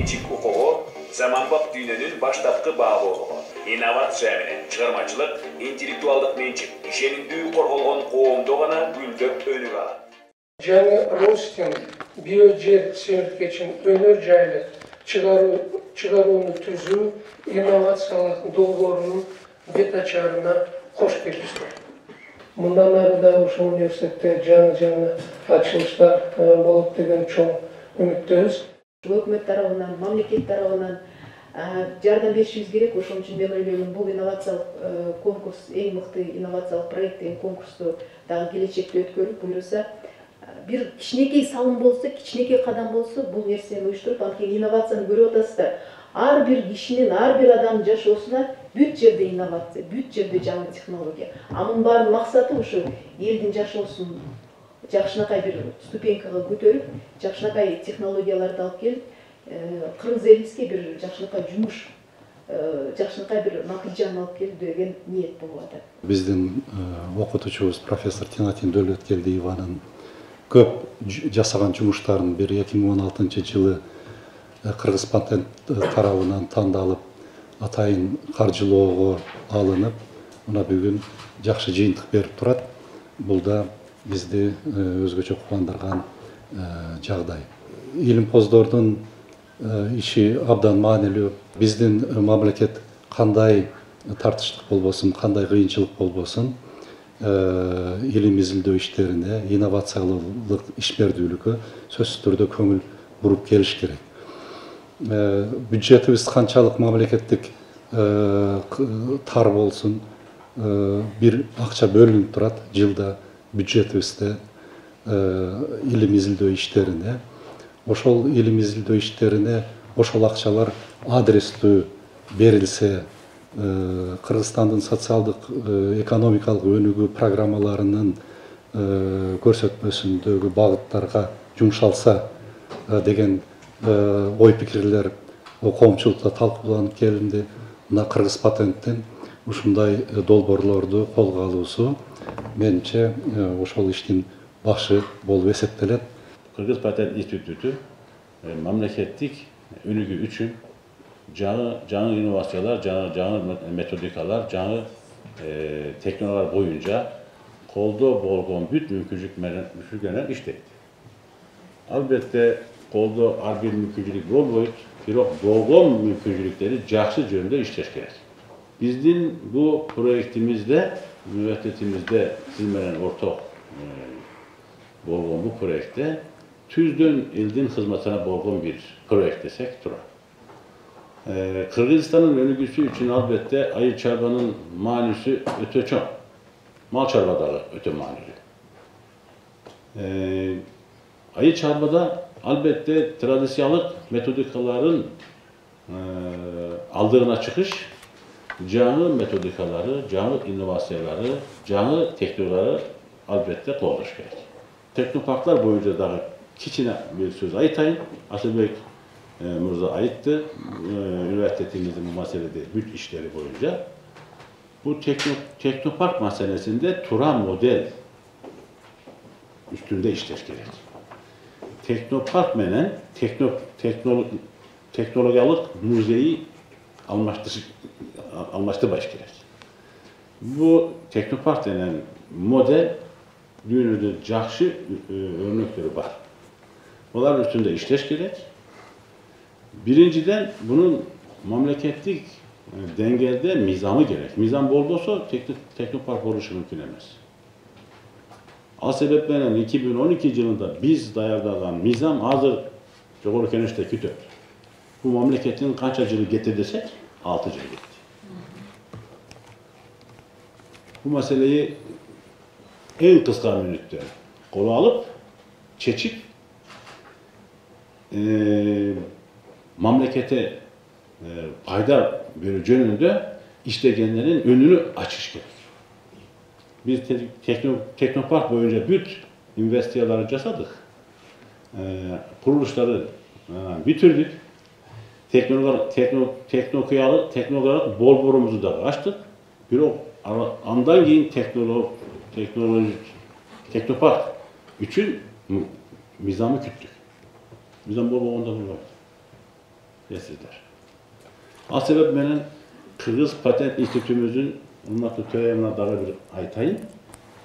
менчик укугу заманбап дүйнөнүн баштапкы баалоолугу, инновация менен чыгармачылык, интеллектуалдык менчик ишенимдүү корголгон коомдо гана гүлдөп өнүгө алат. Жаңы Ростин биожер серtifikatын өнөр жайлы чыгарууну түзүү инновациялык долбоорунун бет ачарына кош келипсиз. Мындан ары да ушул университетте жаңы ачылыштар болот деген чоң үмүттөбүз. Өкмөт тарабынан, мамлекет тарабынан жардам беришибиз керек. Ошон үчүн мен ойлойм, бул инновациялык конкурс, эң мыкты инновациялык проекттин конкурсту дагы келечекте өткөрүп, буюрса бир кичинекей салым болсо, кичинекей кадам болсо, бул нерсени уюштуруп, анткени инновацияны көрүп атасыздар. Ар бир кишинин, ар бир адамдын жашоосуна бүт жерде инновация, бүт жерде жаңы технология. Анын баардык максаты ушу элдин жашоосун жакшынакай бир ступенькага көтөрүп, жакшынакай технологияларды алып келип, кыргыз элибизге бир жакшынакай жумуш, жакшынакай бир натыйжаны алып келүү деген ниет болуп атат. Биздин окутуучубуз профессор Тинатин Дөөлөткелдиеванын көп жасаган жумуштарын бир 2016-жылы Кыргыз патент тарабынан тандалып, атайын каржылоого алынып, мына бүгүн жакшы жыйынтык берип турат. Бул да бизди өзгөчө кубандырган жагдай. Илимпоздордун иши абдан маанилүү. Биздин мамлекет кандай тартыштык болбосун, кандай кыйынчылык болбосун, илим изилдөө иштерине, инновациялык ишмердүүлүккө сөзсүз түрдө көңүл буруп келиш керек. Бюджетибиз канчалык мамлекеттик тар болсун, бир акча бөлүнүп турат жылда бюджетибизде илим изилдөө иштерине. Ошол илим изилдөө иштерине ошол акчалар адрестүү берилсе, Кыргызстандын социалдык экономикалык өнүгүү программаларынын көрсөтмөсүндөгү багыттарга жумшалса деген ой пикирлер коомчулукта талкууланып келинди. Мына Кыргыз патенттин ушундай долбоорлорду колго алуусу менимче ошол иштин башы болуп эсептелет. Кыргыз патент институту мамлекеттик өнүгүү үчүн жаңы инновациялар, жаңы методикалар, жаңы технологиялар боюнча колдо болгон бүт мүмкүнчүлүк менен иштейт. Албетте колдо ар бир мүмкүнчүлүк болбойт, бирок болгон мүмкүнчүлүктөрдү жакшы жөнүндө иштеш керек. Биздин бул проектимизде, университетимизде сиз менен орток болгон бул проектте түздөн элдин кызматына болгон бир проект десек турат. Кыргызстандын өнүгүүсү үчүн албетте айыл чарбанын маанисі өтө чоң. Мал чарба дагы өтө маанилүү. Айыл чарбада албетте традициялык методикаларын алдыгына чыгыш, жаңы методикалары, жаңы инновациялары, жаңы технологиялары албетте колдош керек. Технопарктар боюнча дагы кичине бир сөз айтайын. Асылбек мырза айтты, университетимиздин бул маселеде бүт иштери боюнча. Бул технопарк маселесинде тура модель үстүндө иштеш керек. Технопарк менен технологиялык музейи алмаштырбаш керек. Бул технопарк менен модель дүйнөдө жакшы өрнөктөрү бар. Олар үстүндө иштеш керек. Биринчиден, bunun мамлекеттик деңгээлде мыйзамы керек. Мыйзам болбосо технопарк болушу мүмкүн эмес. Ал себеп менен 2012 жылында биз даярдаган мыйзам азыр жогорку кеңеште күтөт. Бул мамлекеттин канча жылы кетти десек, 6 жыл кетти. Бул маселеyi эң кыска мүнөттө коло алып, чечип, мамлекетке пайда берүү жөнүндө иштегендердин önünü ачыш керек. Biz технопарк боюнча бүт инвестицияларды жасадык. Курулуштарды бүтүрдүк. Технологиялык болборубузду да ачтык. Бирок андан кийин технопарк үчүн мыйзамы күттүк. Мыйзам болбогондо болбойт. Esizler. Al sebep menен Kırgız Patent İnstitutümüzün urmatlı töreğimine dağı bir aytayın.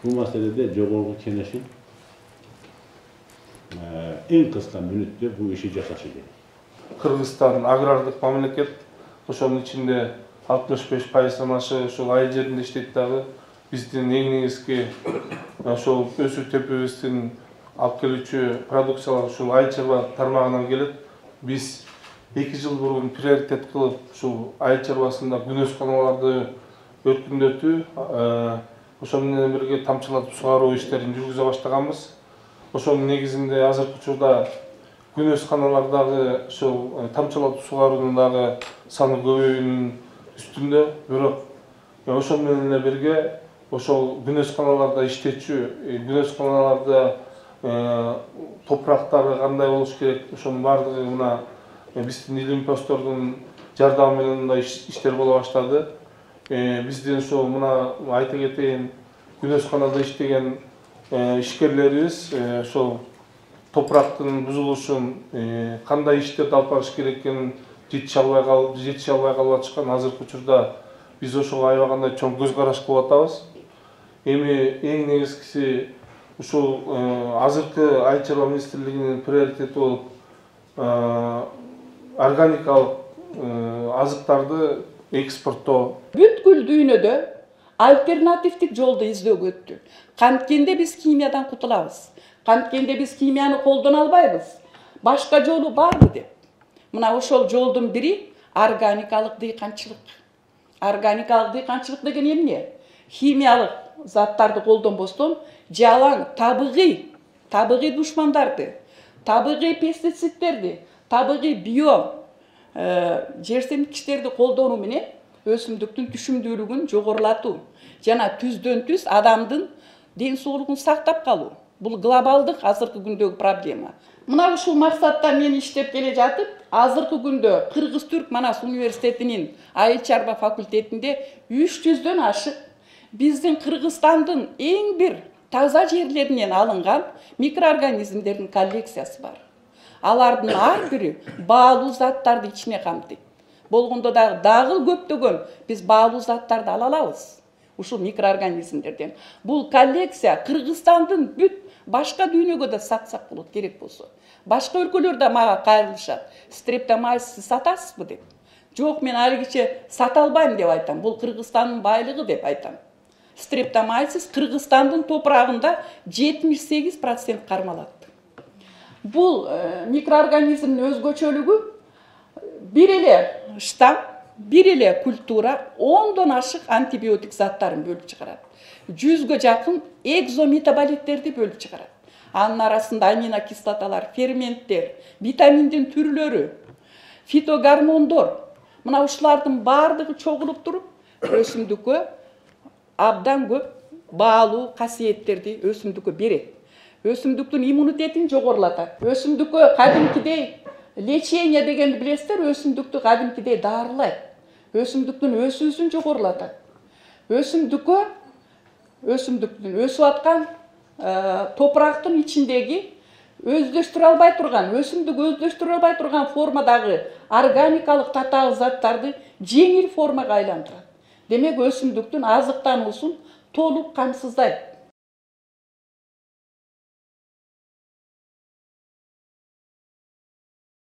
Bu meselede Jogorgu Kenешin en kısa minütte bu işi jasaşı gerek. Kırgızstan agrardык mamleket, ошонун ичинде 65%dan aşı ошол айыл жеринде иштейт дагы. Биздин эң негизги ошол өсүү төпөбүздүн алып келүүчү продукциялар ушул айыл чарба тармагынан келет. Биз 2 жыл бурун приоритет кылып ушул айыл чарбасында күнөсканаларды өркүндөтүү, ошол менен бирге тамчылатып сугаруу иштерин жүргүзө баштаганбыз. Ошонун негизинде азыркы учурда күнөсканалардагы ошол тамчылатып сугаруунун дагы саны көбөйүүнүн үстүндө, бирок ошол менен эле бирге ошол күнөсканаларда иштечү, күнөсканаларда топурактары кандай болуш керек, ошонун баардыгы мына биздин илимпоздордун жардамы менен мындай иштер боло баштады. Биздин ошол мына айта кетейин, күнөсканада иштеген ишкерлерибиз ошол топурактын бузулушун кандай иштерди алып барыш керек экенин жетише албай калып атышкан. Азыркы учурда биз ошого аябагандай чоң көз караш кылып атабыз. Эми эң негизгиси ушул азыркы айыл чарба министрлигинин приоритети болуп органикалык азыктарды экспорттоо. Бүткүл дүйнөдө альтернативдик жолду издөөгө. Канткенде биз химиядан кутулабыз. Канткенде биз химияны колдоно албайбыз. Башка жолу барбы деп. Мына ошол жолдун бири органикалык дыйканчылык. Органикалык дыйканчылык деген эмне? Химиялык заттарды колдонбостон жалаң табигый душмандарды, табигый пестицидтерди, табигый био жерсемткичтерди колдонуу менен өсүмдүктүн түшүмдүүлүгүн жогорулатуу жана түздөн түз адамдын ден соолугун сактап калуу. Бул глобалдык азыркы күндөгү проблема. Мына ушул максатта мен иштеп келе жатып, азыркы күндө Кыргыз-Түрк Манас университетинин айыл чарба факультетинде 300дөн ашык биздин Кыргызстандын эң бир таза жерлеринен алынган микроорганизмдердин коллекциясы бар. Алардын ар бири баалуу заттарды ичине камтыйт. Болгондо дагы көптөгөн биз баалуу заттарды ала алабыз. Ушул микроорганизмдерден. Бул коллекция Кыргызстандын бүт башка дүйнөгө да сатсак болот керек болсо. Башка өлкөлөрдө мага кайрылышат. Стрептомайсис сатасызбы деп. Жок, мен алигиче сата албайм деп айтам. Бул Кыргызстандын байлыгы деп айтам. Стрептомайсис Кыргызстандын топурагында 78% кармалат. Бул микроорганизмдин өзгөчөлүгү бир эле штамм, бир эле культура 10дон ашык антибиотик заттарын бөлүп чыгарат. 100гө жакын экзометаболиттерди бөлүп чыгарат. Анын арасында аминокислоталар, ферменттер, витаминдин түрлөрү, фитогормондор. Мына ушулардын баардыгы чогулуп туруп, өсүмдүккө абдан көп баалуу касиеттерди өсүмдүккө берет. Өсүмдүктүн иммунитетин жогорулатат. Өсүмдүккө кадимкидей лечение дегенди билесиздер, өсүмдүктү кадимкидей дарылайт. Өсүмдүктүн өсүүсүн жогорулатат. Өсүмдүктүн өсүп аткан топурактын ичиндеги өздөштүрө албай турган, өсүмдүк өздөштүрө албай турган формадагы органикалык татаал заттарды жеңил формага айландырат. Демек өсүмдүктүн азыктануусун толук камсыздайт.